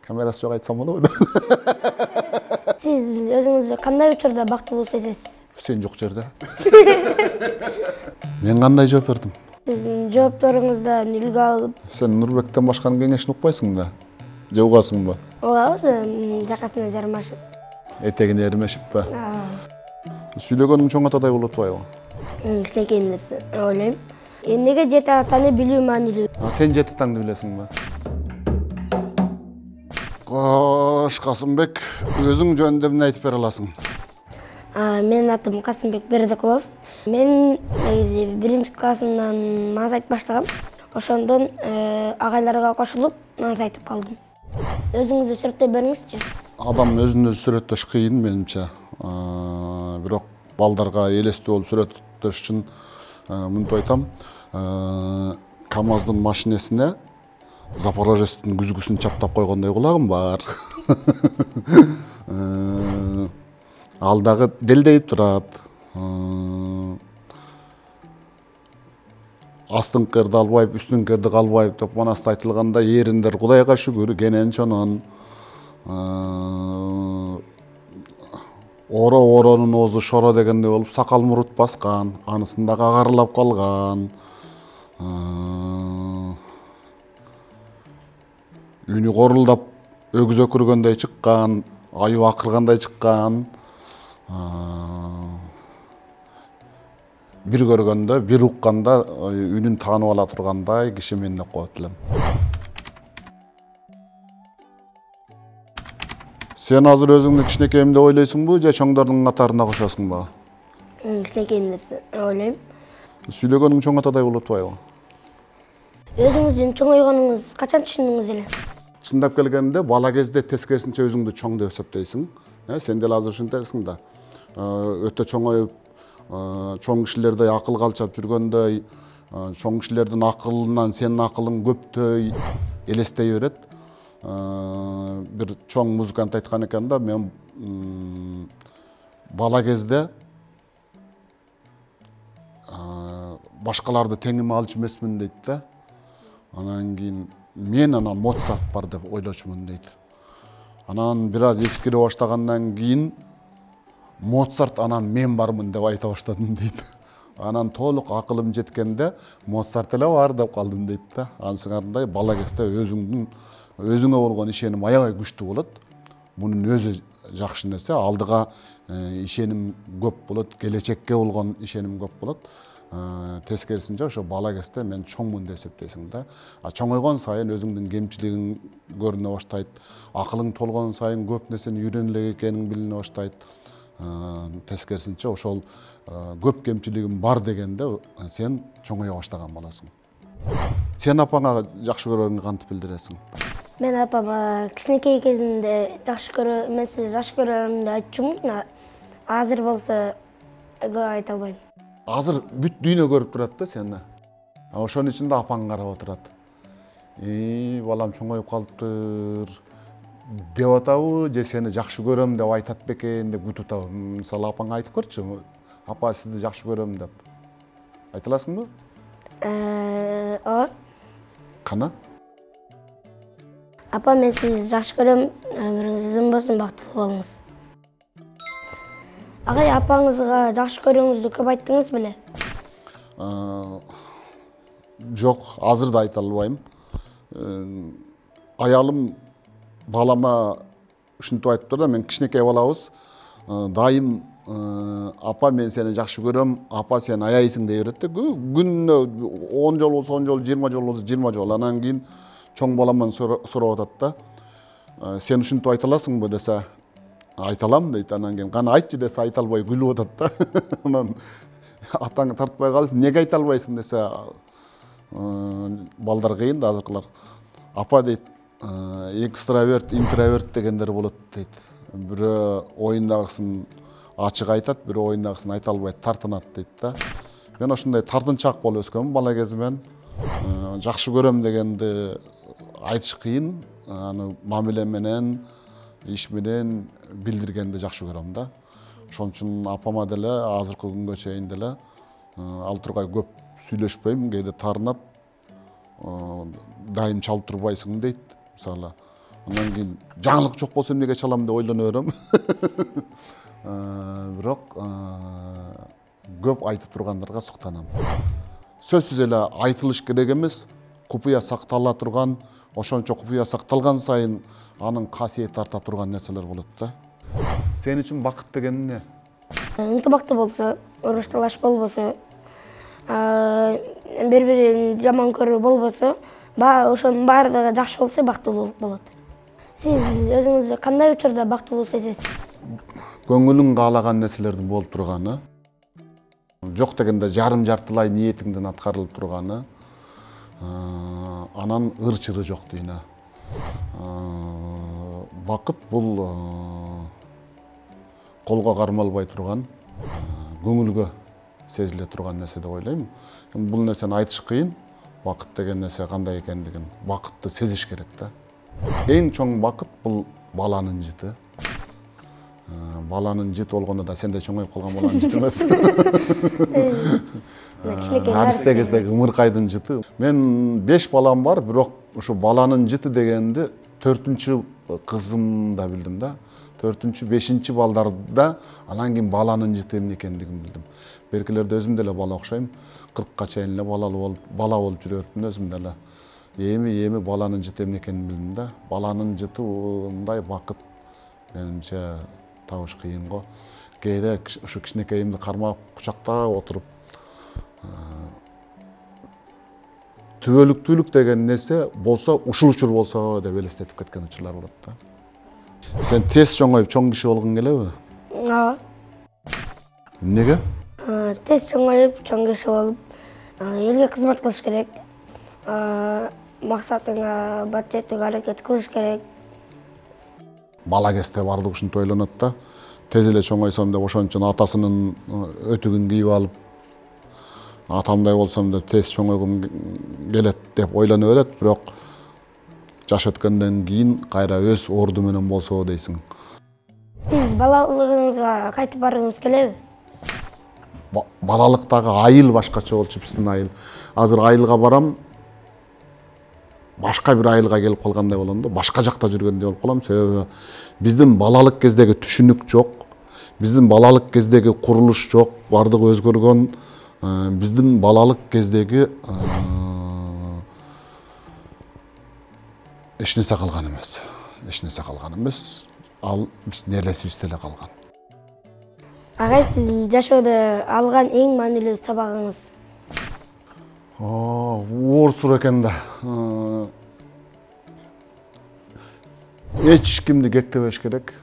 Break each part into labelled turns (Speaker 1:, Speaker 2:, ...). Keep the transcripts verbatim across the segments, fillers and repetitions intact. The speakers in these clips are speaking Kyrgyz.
Speaker 1: Камерасы жок айтсам болобу?
Speaker 2: Сиз өзүңүздү кандай учурда бактылуу сезесиз?
Speaker 1: Сен жок жерде. Мен кандай жооп бердим?
Speaker 2: Сиздин жоопторуңуздан үлгү алып,
Speaker 1: Сен Нурбектен башканын кеңешин укпайсың да? Же угасыңбы?
Speaker 2: угабыз, жакасына жармашып.
Speaker 1: Этегине эримешип ба? Сүйлөгөнүң чоң атадай болуп атпайбы?
Speaker 2: Кичинекейим деп ойлойм. Эмнеге жети атаны билүү маанилүү?
Speaker 1: А сен жети атаңды билесиңби? Кош Касымбек, өзүң жөнүндө эмне айтып бере аласың?
Speaker 2: Менин атым Касымбек Бердикулов. Мен негизи биринчи классымдан маз айтып баштагам. Ошондон агайларга кошулуп маз айтып калдым. Өзүңүздү сүрөттөп бериңизчи.
Speaker 1: Адам өзүн өзү сүрөттөш кыйын менимче. Бирок балдарга элестүү болуп сүрөттөш үчүн мынтип айтам. КамАЗдын машинесине Запорожецтин күзгүсүн чаптап койгондой кулагым бар. Ал дагы делдейип турат. Астыңкырды албайып, үстүңкүрдү калбайып деп манаста айтылганда, эриндер Кудайга шүгүр кенен чонон. Оро оронун оозу шоро дегендей болуп, сакал мурут баскан, анысын дагы агарылап калган. Үнү корулдап өгүз өкүргөндөй чыккан, аюу акыргандай чыккан. Бир көргөндө, бир укканда үнүн таанып ала тургандай киши мен деп коет элем. Сен азыр өзүңдү кичинекейим деп ойлойсуңбу же чоңдордун катарына кошосуңбу?
Speaker 2: Кичинекейим деп ойлойм.
Speaker 1: Сүйлөгөнүң чоң атадай болуп атпайбы?
Speaker 2: Өзүңүздүн чоңойгонуңуз качан түшүндүңүз эле?
Speaker 1: Чындап келгенде бала кезде тескерисинче өзүңдү чоң деп эсептейсиң. Сен деле азыр ушинтесиң да. Өтө чоңоюп, чоң кишилердей акыл калчап жүргөндөй, чоң кишилердин акылынан сенин акылың көптөй элестей берет. Бир чоң музыкант айткан экен да, мен бала кезде башкаларды теңиме алчу эмесмин дейт да. Анан кийин мен анан Моцарт бар деп ойлочумун дейт. Анан бир аз эскире баштагандан кийин Моцарт анан мен бармын деп айта баштадым дейт. Анан толук акылым жеткенде Моцарт эле бар деп калдым дейт да. Анысыңардай бала кезде өзүңдүн өзүңө болгон ишеним аябай күчтүү болот. Мунун өзү жакшы нерсе, алдыга ишеним көп болот, келечекке болгон ишеним көп болот. Тескерисинче ошо бала кезде мен чоңмун деп эсептейсиң да. А чоңойгон сайын өзүңдүн кемчилигиң көрүнө баштайт. Акылың толгон сайын көп нерсени үйрөнө элек экениң билине баштайт. Тескерисинче ошол көп кемчилигим бар дегенде сен чоңое баштаган болосуң. Сен апаңа жакшы көрөгүңдү кантип билдиресиң?
Speaker 2: Мен апама кичинекей кезимде жакшы көрө, мен сизди жакшы көрөм деп айтчумун. Азыр болсо көп айта албайм.
Speaker 1: Азыр бүт дүйнө көрүп турат да сени. Ошонун ичинде апаң карап отурат. И, балам чоңоюп калыптыр деп атабы, же сени жакшы көрөм деп айтат бекен деп күтүп атабы. Мисалы апаңа айтып көрчү, апа сизди жакшы көрөм деп. Айта аласыңбы?
Speaker 2: Ооба.
Speaker 1: Кана?
Speaker 2: Апа, мен сизди жакшы көрөм, өмүрүңүз узун болсун, бактылуу болуңуз. Агай, апаңызга жакшы көрүүңүздү көп айттыңыз беле?
Speaker 1: Жок, азыр да айта албайм. Аялым балама ушинтип айтып тур да, мен кичинекей балабыз. Дайым апа мен сени жакшы көрөм, апа сен аяйсың дей берет да. Күнүнө он жолу болсо он жолу, жыйырма жолу болсо жыйырма жолу. Анан кийин чоң баламдан сурап атат да. Сен ушинтип айта аласыңбы десе, айта алам дейт. Анан кийин кана айтчы десе айта албай күлүп атат да. Анан атаң тартпай калып, эмнеге айта албайсың десе, балдар кыйын да азыркылар. Апа дейт, экстраверт, интроверт дегендер болот дейт. Бирөө оюндагысын ачык айтат, бирөө оюндагысын айта албайт, тартынат дейт да. Мен ошондой тартынчаак болуп өскөмүн бала кезимен. Жакшы көрөм дегенди айтыш кыйын, аны мамиле менен, иш менен билдиргенди жакшы көрөм да. Ошон үчүн апама деле азыркы күнгө чейин деле ал тургай көп сүйлөшпөйм, кээде таарынат. Дайым чалып турбайсың дейт. Мисалы, Андан кийин жаңылык жок болсо эмнеге чалам деп ойлоно берем. Бирок көп айтып тургандарга суктанам. Сөзсүз эле айтылыш керек эмес, купуя сактала турган, ошончо купуя сакталган сайын анын касиети арта турган нерселер болот да. Сен үчүн бакыт деген эмне?
Speaker 2: Ынтымактуу болсо, уруш талаш болбосо, бири-бирин жаман көрүү болбосо, ошонун баардыгы жакшы болсо бактылуулук болот. Сиз өзүңүздү кандай учурда бактылуу сезесиз?
Speaker 1: Көңүлүң каалаган нерселердин болуп турганы, жок дегенде жарым жартылай ниетиңдин аткарылып турганы, анан ыр-чыры жок дүйнө. Бакыт бул колго кармалбай турган, көңүлгө сезиле турган нерсе деп ойлойм. Бул нерсени айтыш кыйын. Бакыт деген нерсе кандай экендигин, бакытты сезиш керек да. Эң чоң бакыт бул баланын жыты. Баланын жыты болгондо да сендей чоңоюп калган баланын жыты эмес. Арсте кездеги ымыркайдын жыты. Мен беш балам бар, бирок ушу баланын жыты дегенди төртүнчү кызымда билдим да. төртүнчү, бешинчи балдарда анан кийин баланын жыты эмне экендигин билдим. Беркилерде өзүм деле бала окшойм. кыркка чейин эле балалуу болуп, бала болуп жүрөтмүн өзүм деле. Эми эми баланын жыты эмне экенин билдим да. Баланын жыты мындай бакыт менимче табыш кыйын го. Кээде ушу кичинекейимди кармап, кучактап отуруп, түбөлүктүүлүк деген нерсе болсо, ушул учур болсо деп элестетип кеткен учурлар болот да. Сен тез чоңоюп чоң киши болгуң келеби?
Speaker 2: Ооба.
Speaker 1: Эмнеге?
Speaker 2: Тез чоңоюп чоң киши болуп, элге кызмат кылыш керек. Максатыңа бат жетүүгө аракет кылыш керек.
Speaker 1: Бала кезде баардык ушинтип ойлонот да. Тез эле чоңойсом деп ошон үчүн атасынын өтүгүн кийип алып, атамдай болсом деп тез чоңойгум келет деп ойлоно берет, бирок жаш өткөндөн кийин кайра өз орду менен болсо дейсиң.
Speaker 2: Сиз балалыгыңызга кайтып баргыңыз келеби?
Speaker 1: Балалыктагы айыл башкача болчу, биздин айыл. Азыр айылга барам, башка бир айылга келип калгандай болом да, башка жакта жүргөндөй болуп калам. Себеби биздин балалык кездеги түшүнүк жок, биздин балалык кездеги курулуш жок, бардыгы өзгөргөн. Биздин балалык кездеги эч нерсе калган эмес. Эч нерсе калган эмес. Ал биздин элесибизде эле калган.
Speaker 2: Агай, сиздин жашоодо алган эң маанилүү сабагыңыз?
Speaker 1: Оор суроо экен да. Эч кимди кектебеш керек.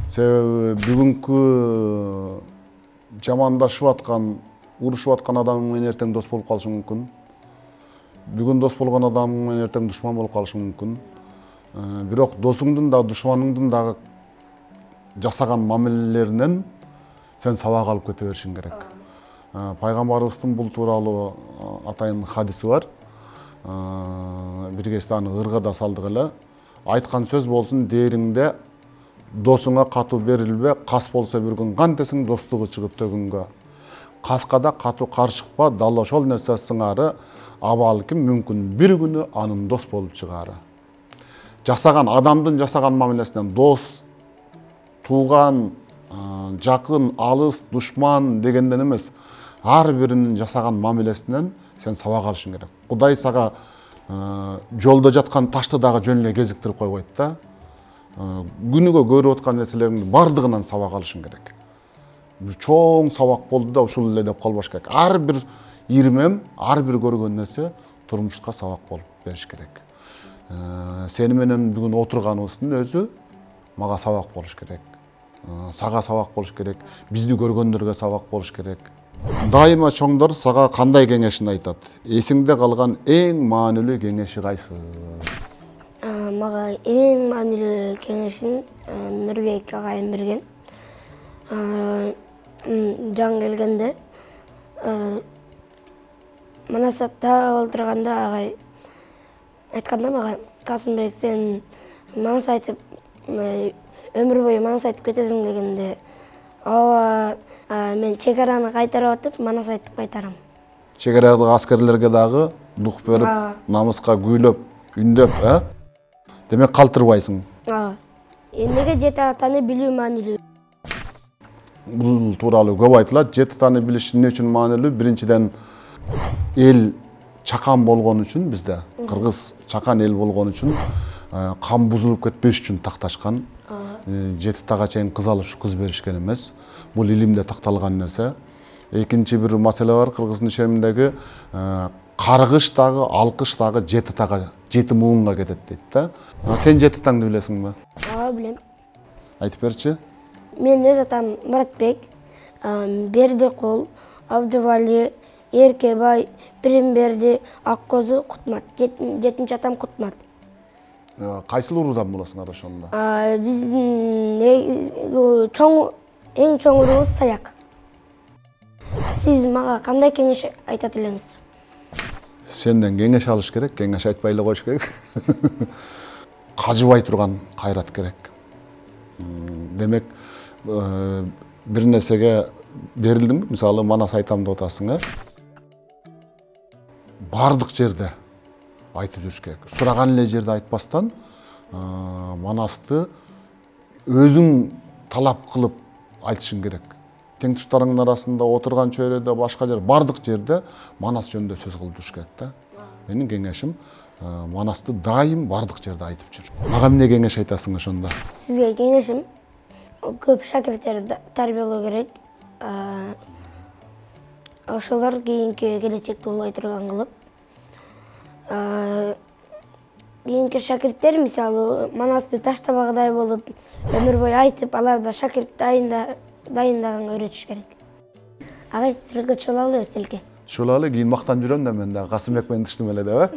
Speaker 1: Себеби бүгүнкү жамандашып аткан, урушуп аткан адам менен эртең дос болуп калышы мүмкүн. Бүгүн дос болгон адам менен эртең душман болуп калышы мүмкүн. Бирок досуңдун да, душманыңдын дагы жасаган мамилелеринен сен сабак алып кете беришиң керек. Пайгамбарыбыздын бул тууралуу атайын хадиси бар. Бир кезде аны ырга да салдык эле. Айткан сөз болсун дээриңде досуңа катуу берилбе, кас болсо бир күн кантесиң достугу чыгып төгүнгө. Каска да катуу каршыкпа, дал ошол нерсе сыңары абалким мүмкүн бир күнү анын дос болуп чыгаары. Жасаган адамдын жасаган мамилесинен дос, тууган, жакын, алыс, душман дегенден эмес, ар биринин жасаган мамилесинен сен сабак алышың керек. Кудай сага жолдо жаткан ташты дагы жөн эле кезиктирип койбойт да. Күнүгө көрүп аткан нерселериңдин бардыгынан сабак алышың керек. Бир чоң сабак болду да ушул эле деп калбаш керек. Ар бир ирмем, ар бир көргөн нерсе турмушка сабак болуп бериш керек. Сени менен бүгүн отурганыбыздын өзү мага сабак болуш керек. Сага сабак болуш керек. Бизди көргөндөргө сабак болуш керек. Дайыма чоңдор сага кандай кеңешин айтат? Эсиңде калган эң маанилүү кеңеши кайсы?
Speaker 2: Мага эң маанилүү кеңешин Нурбек агайым берген. Жаңы келгенде Манасатта олтурганда агай айтканда мага, Касымбек, сен манас айтып, өмүр бою манас айтып кетесиң дегенде, ооба, мен чек араны кайтарып атып, манас айтып кайтарам.
Speaker 1: Чек арадагы аскерлерге дагы дух берип, намыска күүлөп, үндөп, э? Демек калтырбайсың.
Speaker 2: Ооба. Эмнеге жети атаны билүү маанилүү?
Speaker 1: Бул тууралуу көп айтылат. Жети атаны билиш эмне үчүн маанилүү? Биринчиден, эл чакан болгон үчүн, бизде кыргыз чакан эл болгон үчүн, кан бузулуп кетпеш үчүн такташкан. Жети атага чейин кыз алыш, кыз беришкен эмес. Бул илимде такталган нерсе. Экинчи бир маселе бар, кыргыздын ишенимдеги каргыш дагы, алкыш дагы жети атага, жети муунга кетет дейт да. Сен жети атаңды билесиңби?
Speaker 2: Ооба, билем.
Speaker 1: Айтып берчи.
Speaker 2: Мен өз атам Мұратбек, Бердикул, Абдывали, Эркебай, Биримберди, Аккозу, Кутмат. Жетинчи атам Кутмат.
Speaker 1: Кайсыл уруудан болосуңар ошондо?
Speaker 2: Биздин чоң, эң чоң уруубуз Саяк. Сиз мага кандай кеңеш айтат элеңиз?
Speaker 1: Сенден кеңеш алыш керек, кеңеш айтпай эле коюш керек. Кажыбай турган кайрат керек. Демек, бир нерсеге берилдимби? Мисалы, манас айтам деп атасың, э? Бардык жерде айтып жүрүш керек. Сураган эле жерде айтпастан, манасты өзүң талап кылып айтышың керек. Тең туштарыңдын арасында отурган чөйрөдө, башка жер, бардык жерде манас жөнүндө сөз кылып жүрүш керек да. Менин кеңешим, манасты дайым бардык жерде айтып жүр. Мага эмне кеңеш айтасың ошондо?
Speaker 2: Сизге кеңешим, көп шакирттерди тарбиялоо керек. Ошолор кийинки келечекти улай турган кылып. Кийинки шакирттер, мисалы, манасты таштабагыдай болуп, өмүр бою айтып, аларда шакирт дайындаганга үйрөтүш керек. Агай, сүрөткө чыгып алалы, Селке.
Speaker 1: Чыгып алалы, кийин мактанып жүрөм да мен да Касымбек менен тыштым эле деп, э?